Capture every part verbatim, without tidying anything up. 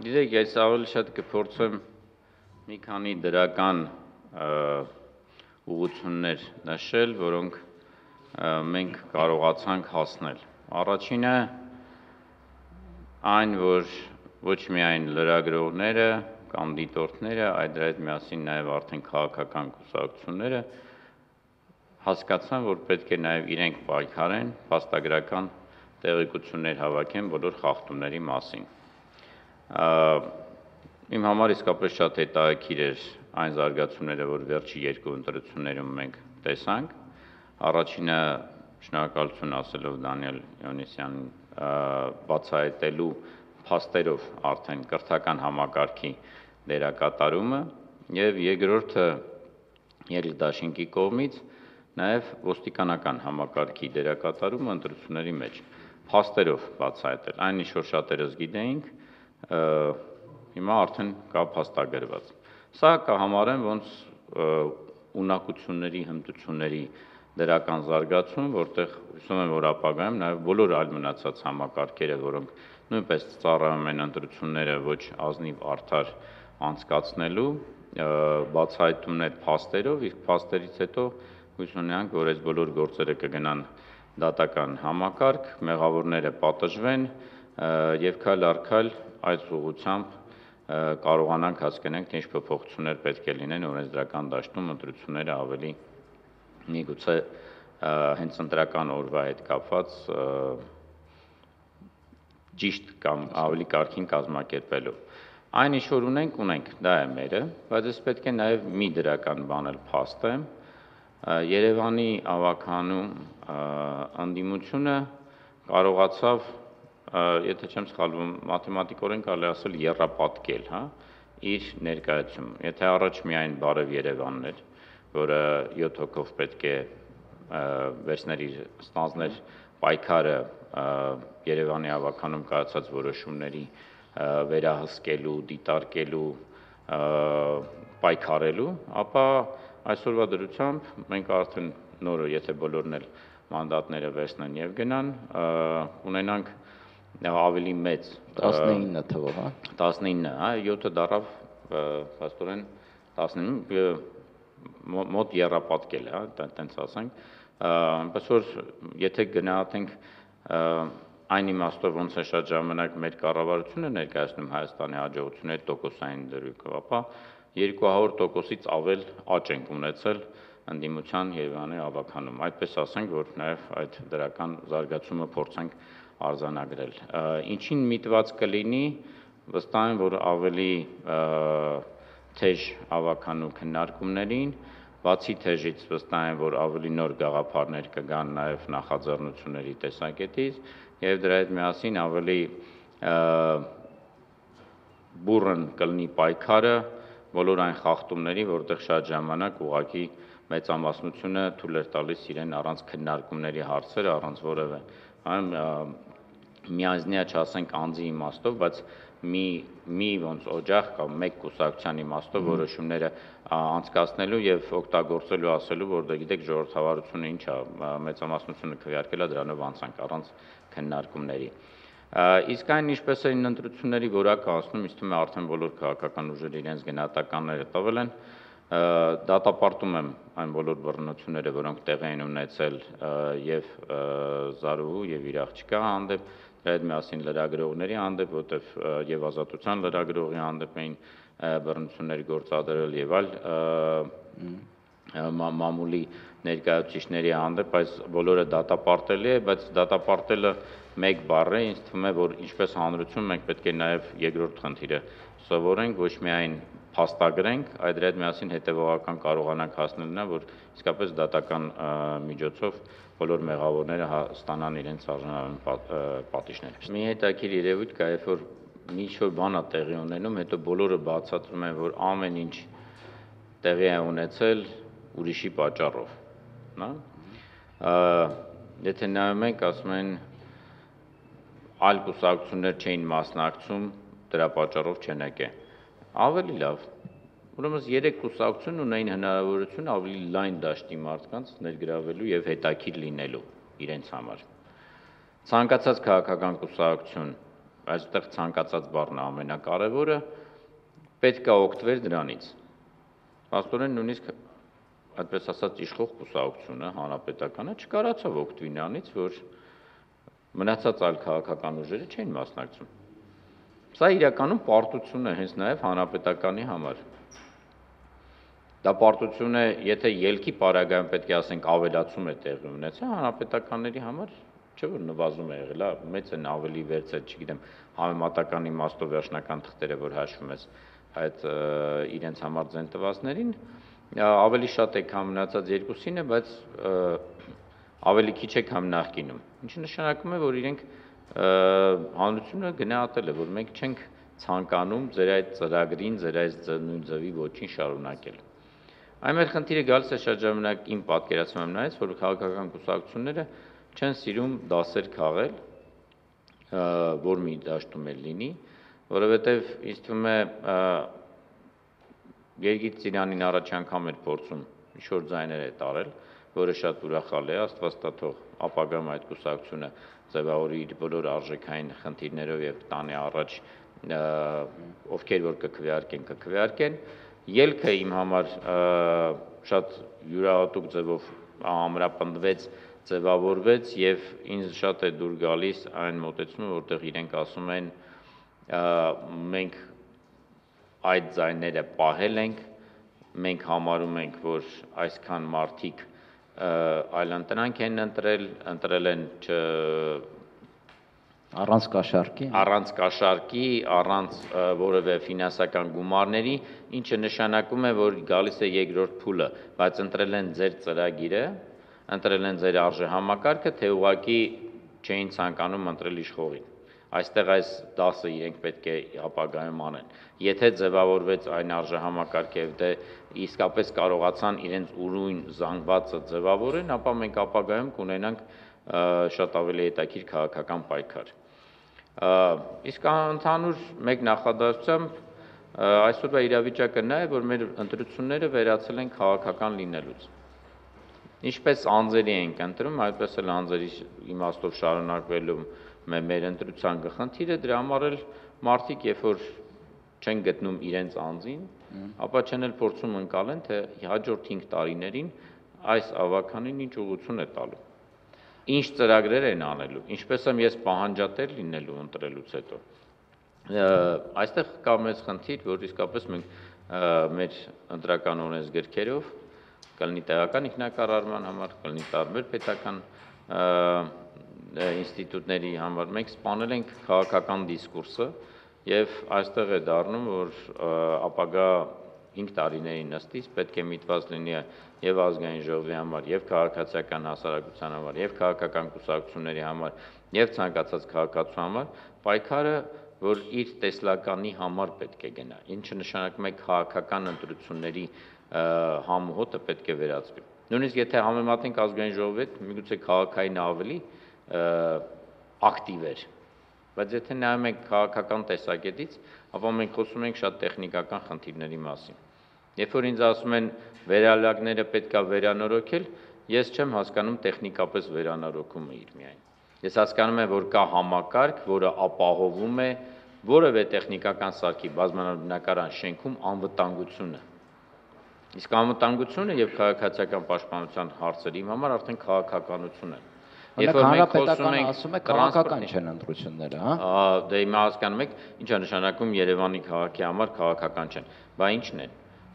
Գիտեք, ես ավելի շատ կփորձեմ մի քանի դրական ուղղություններ նշել, որոնք մենք կարողացանք հասնել։ Առաջինը այն, որ ոչ միայն լրագրողները կամ դիտորդները, այլ դրա հետ միասին նաև արդեն քաղաքական կուսակցությունները հասկացան, որ պետք է նաև իրենք պայքարեն, փաստագրական տեղեկություններ հավաքեն բոլոր խախտումների մասին։ Իմ համար իսկապես շատ հետաքրքիր էր այն զարգացումները, որ վերջի երկու ընտրություններում մենք տեսանք։ Առաջինը շնորհակալություն ասելով Դանիել Հովհաննիսյանին բացահայտելու փաստերով արդեն կրթական համակարգի դերակատարումը եւ երկրորդը Երիտասարդի կողմից նաև ոստիկանական համակարգի դերակատարումը ընտրությունների մեջ փաստերով բացահայտել, այն ինչ որ շատերս գիտեինք, հիմա արդեն կա փաստագրված։ Սա կհամարեմ ոնց ունակությունների, հմտությունների դրական զարգացում, որտեղ հուսում եմ, որ ապագայում նաև բոլոր այլ մնացած համակարգերը, որոնք նույնպես ծառայում են ընտրությունները ոչ ազնիվ արդար անցկացնելու, բացահայտումներ փաստերով, իսկ փաստերից հետո հույս ունենանք, որ այս բոլոր գործերը կգնան դատական համակարգ, մեղավորները պատժվեն եւ քայլ առ քայլ այս ուղղությամբ կարողանանք հասկանանք, թե ինչ փոփոխություններ պետք է լինեն օրենսդրական դաշտում ընտրությունները ավելի միգուցե հենց ընտրական օրվա հետ կապված ճիշտ կամ ավելի կարգին կազմակերպելով։ Այն ինչ որ ունենք, ունենք, դա է մերը, բայց ես պետք է նաև մի դրական բան էլ փաստեմ։ Երևանի ավագանում անդիմությունը կարողացավ, եթե չեմ սխալվում, մաթեմատիկորեն կարելի ասել եռապատկել, հա, իր ներկայացումը։ Եթե առաջ միայն Բարև Երևանն էր, որը յոթ հոգով պետք է վերցներ իր ստանձներ պայքարը Երևանի ավագանում կայացած որոշումների վերահսկելու, դիտարկելու, պայքարելու, ապա այսօրվա դրությամբ մենք արդեն նորը, եթե բոլորն էլ մանդատները վերցնեն եւ գնան, ունենանք ավելի մեծ տասնինը թվով, հա, տասնինը, հա, յոթը դարավ փաստորեն տասնինը մոտ եռապատկել, հա, տենց ասենք, այնպես որ եթե գնահատենք այն իմաստով ոնց է շատ ժամանակ մեր կառավարությունը ներկայացնում Հայաստանի հաջողությունների տոկոսային դրույթով, ապա երկու հարյուր տոկոսից ավել աճ ենք ունեցել ընդդիմության Երևանի ավագանում։ Այդպես ասենք, որ նաև այդ դրական զարգացումը փորձենք արձանագրել։ Ինչին միտված կլինի, վստահ եմ, որ ավելի թեժ ավագանու քննարկումներին, բացի թեժից վստահ եմ, որ ավելի նոր գաղափարներ կգան նաև նախաձեռնությունների տեսակետից եւ դրա հետ միասին ավելի բուրըն կլինի պայքարը բոլոր այն խախտումների, որտեղ շատ ժամանակ ուղղակի մեծամասնությունը թույլ էր տալիս իրեն առանց քննարկումների հարցերը, առանց որևէ միանձնյա չասենք անձի իմաստով, բայց մի մի ոնց օջախ կամ մեկ կուսակցության իմաստով որոշումները անցկացնելու եւ օգտագործելու ասելու, որ դե գիտեք ժողովրդավարությունը ինչ է, մեծամասնությունը քվեարկել է, դրանով անցանք առանց քննարկումների։ Իսկ այն ինչպես են ընտրությունների որակը ասում, ինձ թվում է արդեն բոլոր քաղաքական ուժերը իրենց գնահատականները տվել են, դատապարտում եմ այն բոլոր բռնությունները, որոնք տեղի են ունեցել եւ Զարուհու եւ իր աղջկա հանդեպ, դրա հետ միասին լրագրողների հանդեպ, որտեվ եւ Ազատության լրագրողի հանդեպ էին բռնություններ գործադրել եւ այլ մամուլի ներկայացուցիչների հանդեպ, այս բոլորը դատապարտելի է, բայց դատապարտելը մեկ բառ է, ինձ թվում է, որ ինչպես հանրություն մենք պետք է նաեւ երկրորդ խնդիրը սովորենք, ոչ միայն փաստագրենք, այլ դրա հետ միասին հետևողական կարողանանք հասնել նա, որ իսկապես դատական միջոցով բոլոր մեղավորները ստանան իրենց արժանանալու պատիժները։ Մի հետաքրքիր երևույթ կա, երբ որ մի ինչ-որ բան է տեղի ունենում, հետո բոլորը բացատրում են, որ ամեն ինչ տեղի է ունեցել ուրիշի պատճառով, հա։ Եթե նայում ենք, ասում են այլ կուսակցություններ չէին մասնակցում, դրա պատճառով չեն եկել։ Ավելի լավ, ուրեմն երեք կուսակցություն ունեին հնարավորություն ավելի լայն դաշտի մարդկանց ներգրավելու եւ հետաքրքիր լինելու իրենց համար։ Ցանկացած քաղաքական կուսակցություն այստեղ ցանկացած բառն է ամենակարևորը, պետք է օգտվել դրանից։ Փաստորեն նույնիսկ այդպես ասած իշխող կուսակցությունը, հանրապետականը չկարողացավ օգտվի նրանից, որ մնացած այլ քաղաքական ուժերը չէին մասնակցում։ Սա իրականում պարտություն է հենց նաև հանրապետականի համար։ Դա պարտություն է, եթե ելքի պարագայում պետք է ասենք ավելացում է տեղի ունեցել, հանրապետականների համար չէ որ նվազում է եղել, մեծ են ավելի վերցել, չգիտեմ, համեմատական իմաստով վերջնական թղթերը, որ հաշվում ես այդ իրենց համար ձեն տվածներին, ավելի շատ է քան մնացած երկուսին է, բայց ավելի քիչ է քան նախկինում։ Ինչը նշանակում է, որ իրենք հանրությունը գնահատել է, որ մենք չենք ցանկանում ձեր այդ ծրագրին, ձեր այդ նույն ձևի ոչինչ շարունակել։ Այն մեր խնդիրը գալիս է շատ ժամանակ իմ պատկերացմամբ նայած, որ քաղաքական կուսակցությունները չեն սիրում դասեր քաղել, որ մի դաշտում էլ լինի, որովհետև ինձ թվում է Գերգիծ Ծիրանին առաջ անգամ էր փորձում ինչ-որ ձայներ է տարել, որը շատ ուրախալ է, Աստված տա թող ապագայում այդ կուսակցությունը ձևավորի իր բոլոր արժեքային խնդիրներով եւ տանի առաջ ովքեր որ կքվեարկեն, կքվեարկեն։ Ելքը իմ համար շատ յուրահատուկ ձևով ամրապնդվեց, ձևավորվեց եւ ինձ շատ է դուր գալիս այն մոտեցումը, որտեղ իրենք ասում են մենք այդ ձայները պահել ենք, մենք համարում ենք, որ այսքան մարդիկ այլընտրանք են ընտրել, ընտրել են չ առանց կաշառքի, առանց կաշառքի, առանց որևէ ֆինանսական գումարների, ինչը նշանակում է, որ գալիս է երկրորդ փուլը, բայց ընտրել են ձեր ծրագիրը, ընտրել են ձեր արժեհամակարգը, թե ուղղակի չէին ցանկանում ընտրել իշխողին։ Այստեղ այս դասը իրենք պետք է ապագայում անեն։ Եթե ձևավորվեց այն արժեհամակարգը եւ դե իսկապես կարողացան իրենց ուրույն զանգվածը ձևավորեն, ապա մենք ապագայում կունենանք շատ ավելի հետաքրքիր քաղաքական պայքար։ Իսկ ընդհանուր մեկ նախադասությամբ այսօրվա իրավիճակը նա է, որ մեր ընտրությունները վերածել են քաղաքական լինելուց։ Ինչպես անձերի ենք ընտրում, այդպես էլ անձերի իմաստով շարունակվելու մեր ընտրության խնդիրը, դրա համար էլ մարդիկ, երբ որ չեն գտնում իրենց անձին, ապա չեն էլ փորձում ընկալեն, թե հաջորդ հինգ տարիներին այս ավականին ինչ ուղղություն է տալու։ Ինչ ծրագրեր են անելու, ինչպես եմ ես պահանջատեր լինելու ընտրելուց հետո։ Այստեղ կա մեծ խնդիր, որ իսկապես մենք մեր ընտրական օրենսգրքերով կլինի տեղական ինքնակառավարման համար, կլինի տարբեր պետական ինստիտուտների համար մենք սպանել ենք քաղաքական դիսկուրսը եւ այստեղ է դառնում, որ ապագա հինգ տարիների նստից պետք է միտված լինի եւ ազգային ժողովի համար, եւ քաղաքացիական հասարակության համար, եւ քաղաքական կուսակցությունների համար, եւ ցանկացած քաղաքացու համար պայքարը, որ իր տեսլականի համար պետք է գնա, ինչը նշանակում է քաղաքական ընտրությունների համոհոտը պետք է վերածվի։ Նույնիսկ եթե համեմատենք ազգային ժողովի հետ, միգուցե քաղաքային ավելի ակտիվ էր, բայց եթե նայում ենք քաղաքական տեսակետից, ապա մենք խոսում ենք շատ տեխնիկական խնդիրների մասին։ Երբ որ ինձ ասում են վերալակները պետք է վերանորոգել, ես չեմ հասկանում տեխնիկապես վերանորոգումը իր միայն։ Ես հասկանում եմ, որ կա համակարգ, որը ապահովում է որևէ տեխնիկական սարքի բազմաբնակարան շենքում անվտանգությունը։ Իսկ անվտանգությունը եւ քաղաքացիական պաշտպանության հարցերի համար արդեն քաղաքականություն է։ Երբ որ մենք խոսում ենք, ասում է քաղաքական չեն ընտրությունները, հա։ Դե հիմա հասկանում եք, ինչ է նշանակում Երևանի քաղաքի համար քաղաքական չեն։ Բա ի՞նչն է։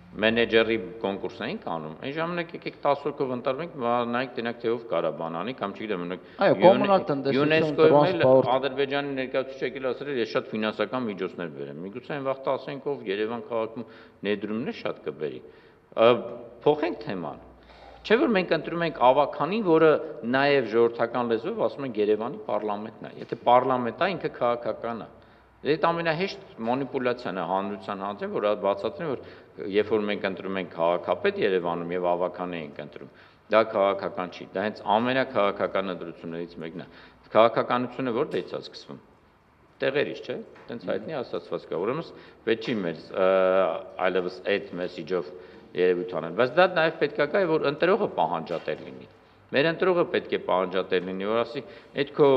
Մենեջերի կոնկուրս էինք անում, այն ժամանակ եկեք տասը հոգով ընտրվենք, նայեք տենակ թե ով կարա բան անի, կամ չգիտեմ, այո, կոմունալ տնտեսություն, տրանսպորտ, Ադրբեջանի ներկայացուցիչ եկել ասել էր, ես շատ ֆինանսական միջոցներ բերեմ։ Միգուցե այն վաղ ասենք, ով Երևան քաղաքում ներդրումներ շատ կբերի։ Փոխենք թեման։ Չէ՞ որ մենք ընտրում ենք ավականին, որը նաև ժողովրդական լեզվով ասում են Երևանի պարլամենտն է։ Եթե պարլամենտ է, ինքը քաղաքական է։ Այդ ամենահեշտ մանիպուլյացիան է հանրության հանդեպ, որ բացատրեն, որ երբ որ մենք ընտրում ենք քաղաքապետ Երևանում եւ ավական ենք ընտրում, դա քաղաքական չի։ Դա հենց ամենաքաղաքական ընտրություններից մեկն է։ Քաղաքականությունը որտեղից է սկսվում։ Տեղերից, չէ՞։ Տենց հայտնի ասացված կա։ Ուրեմն պետք չի մեր այլևս այդ մեսեջով երևույթ անել, բայց դա նաև պետք է կա, որ ընտրողը պահանջատեր լինի։ Մեր ընտրողը պետք է պահանջատեր լինի, որ ասի, այդ քո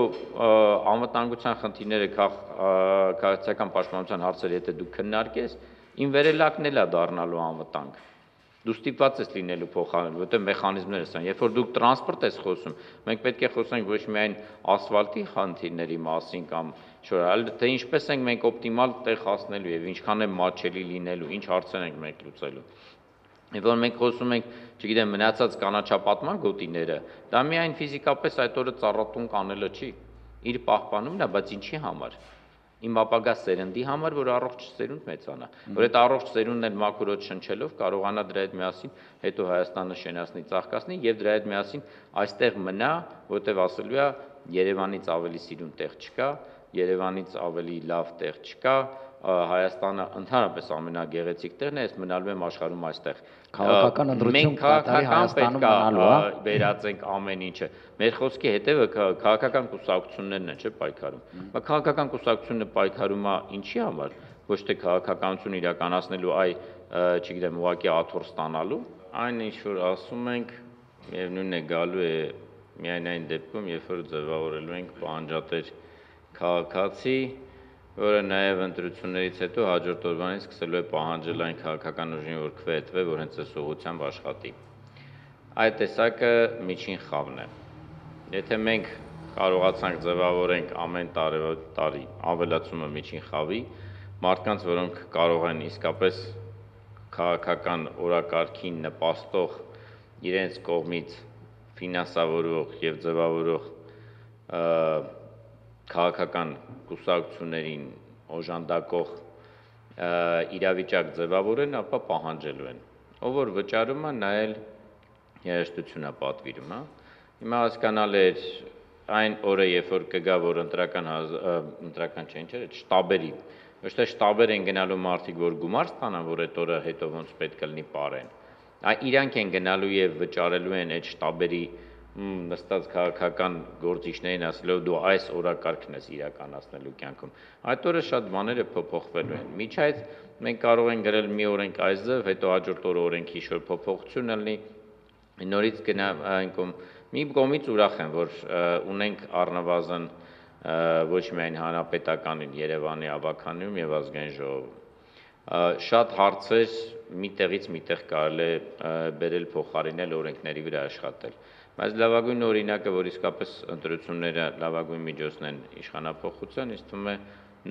անվտանգության խնդիրները, քաղաքացիական պաշտպանության հարցերը, եթե դու քննարկես, իմ վերելակն էլ է դառնալու անվտանգ։ Դու ստիպված ես լինելու փոխարեն, որտեղ մեխանիզմները սան։ Երբ որ դու տրանսպորտ ես խոսում, մենք պետք է խոսենք ոչ միայն ասֆալտի խնդիրների մասին կամ շոր, այլ թե ինչպես ենք մենք օպտիմալ տեղ հասնելու եւ ինչքան է մատչելի լինելու, ինչ հարցեր ենք մենք լուծելու։ Եվ որ մենք խոսում ենք, չգիտեմ, մնացած կանաչապատման գոտիները, դա միայն ֆիզիկապես այդ օրը ծառատուն կանելը չի, իր պահպանումն է, բայց ինչի համար։ Իմ ապագա սերնդի համար, որ առողջ սերունդ մեծանա, որ այդ առողջ սերունդն էլ մաքուրոց շնչելով կարողանա դրա հետ միասին հետո Հայաստանը շենացնի, ծաղկացնի եւ դրա հետ միասին այստեղ մնա, որտեվ ասելու է Երևանից ավելի սիրուն տեղ չկա, Երևանից ավելի լավ տեղ չկա, Հայաստանը ընդհանրապես ամենագեղեցիկ տեղն է, ես մնալու եմ աշխարհում այստեղ։ Քաղաքական ընտրություն կատարի Հայաստանում մնալու, հա, վերածենք ամեն ինչը։ Մեր խոսքի հետևը քաղաքական կուսակցություններն են, չէ՞, պայքարում։ Բայց քաղաքական կուսակցությունը պայքարում է ինչի համար, ոչ թե քաղաքականություն իրականացնելու, այ, չգիտեմ, ուղղակի աթոռ ստանալու, այն ինչ որ ասում ենք, միևնույնն է գալու է միայն այն դեպքում, երբ որ ձևավորելու ենք պահանջատեր քաղաքացի, որը նաև ընտրություններից հետո հաջորդ օրվանից սկսելու է պահանջել այն քաղաքական ուժին, որ քվեթվե, որ հենց այս ուղղությամբ աշխատի։ Այդ տեսակը միջին խավն է։ Եթե մենք կարողացանք ձևավորենք ամեն տարի ավելացումը միջին խավի, մարդկանց, որոնք կարող են իսկապես քաղաքական օրակարգին նպաստող իրենց կողմից ֆինանսավորող եւ ձևավորող քաղաքական կուսակցություններին օժանդակող իրավիճակ ձևավորեն, ապա պահանջելու են։ Ով որ վճարում է, նա էլ երաժշտություն է պատվիրում, հա։ Հիմա հասկանալ էր այն օրը, երբ որ կգա, որ ընտրական ընտրական չէ, ինչ էր, շտաբերի, ոչ թե շտաբեր են գնալու մարդիկ, որ գումար ստանան, որ այդ օրը հետո ոնց պետք է լինի պարեն։ Այ իրանք են գնալու եւ վճարելու են այդ շտաբերի նստած քաղաքական գործիչներին ասելով դու այս օրակարգն ես իրականացնելու կյանքում։ Այդ օրը շատ բաները փոփոխվելու են։ Միջ այդ մենք կարող ենք գրել մի օրենք այս ձև, հետո հաջորդ օրը օրենքի ինչ-որ փոփոխություն լինի, նորից գնա այնքան մի կողմից ուրախ եմ, որ ունենք առնվազն ոչ միայն հանրապետականին Երևանի ավականիում եւ ազգային ժողովում։ Շատ հարցեր միտեղից միտեղ կարելի է բերել փոխարինել օրենքների վրա աշխատել։ Բայց լավագույն օրինակը, որ իսկապես ընտրությունները լավագույն միջոցն են իշխանափոխության, ինձ թվում է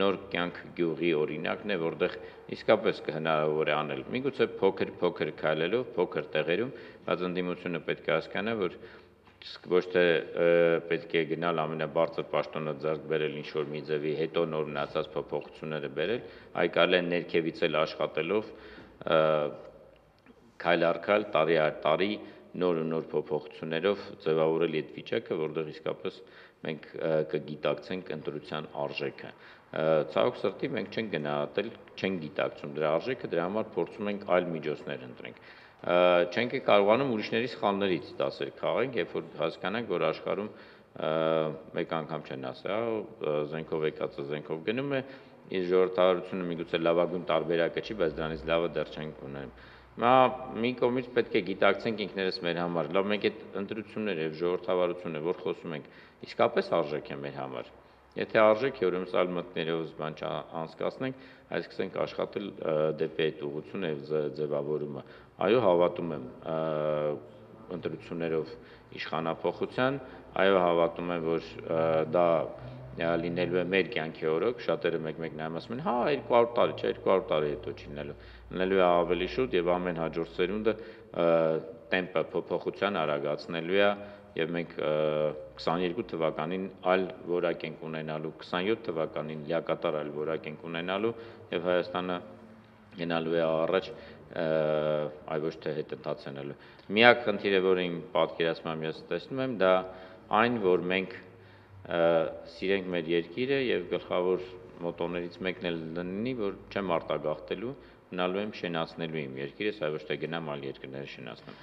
նոր կյանք գյուղի օրինակն է, որտեղ իսկապես կհնարավոր է անել։ Միգուցե փոքր-փոքր քայլելով, փոքր տեղերում, բայց ընդդիմությունը պետք է հասկանա, որ ոչ թե պետք է գնալ ամենաբարձր պաշտոնը ձեռք բերել ինչ-որ մի ձևի, հետո նոր մնացած փոփոխությունները բերել, այլ կարելի է ներքևից էլ աշխատելով քայլ առ քայլ, տարի առ տարի նոր ու նոր փոփոխություններով ձևավորել այդ վիճակը, որտեղ իսկապես մենք կգիտակցենք ընտրության արժեքը։ Ցավոք սրտի մենք չենք գնահատել, չենք գիտակցում դրա արժեքը, դրա համար փորձում ենք այլ միջոցներ ընտրենք։ Չենք կարողանում ուրիշների սխալներից դասեր քաղենք, երբ որ հասկանանք, որ աշխարհում մեկ անգամ չեն ասա, զենքով եկածը զենքով գնում է, իր ժողովրդավարությունը միգուցե լավագույն տարբերակը չի, բայց դրանից լավը դեռ չենք ունենում։ Մա մի կողմից պետք է գիտակցենք ինքներս մեր համար, լավ մենք այդ ընտրությունները եւ ժողովրդավարությունը, որ խոսում ենք, իսկապես արժեք է մեր համար։ Եթե արժեք է, ուրեմն սալ մտներով բան չանցկացնենք, այս սկսենք աշխատել դեպի այդ ուղղությունը եւ ձևավորումը։ Այո, հավատում եմ ընտրություններով իշխանափոխության, այո, հավատում եմ, որ դա լինելու է մեր կյանքի օրոք, շատերը մեկ-մեկ նայում ասում են, հա, երկու հարյուր տարի, չէ, երկու հարյուր տարի հետո չի լինելու, լինելու է ավելի շուտ եւ ամեն հաջորդ սերունդը տեմպը փոփոխության արագացնելու է եւ մենք քսաներկու թվականին այլ որակ ենք ունենալու, քսանյոթ թվականին լիակատար այլ որակ ենք ունենալու եւ Հայաստանը գնալու է առաջ, այ ոչ թե հետընթացնելու։ Միակ խնդիրը, որը իմ պատկերացմամբ ես տեսնում եմ, դա այն, որ մենք սիրենք մեր երկիրը եւ գլխավոր մոտորներից մեկն էլ լինի, որ չեմ արտագաղթելու, մնալու եմ շենացնելու իմ երկիրս, այլ ոչ թե գնամ այլ երկրները շենացնեմ։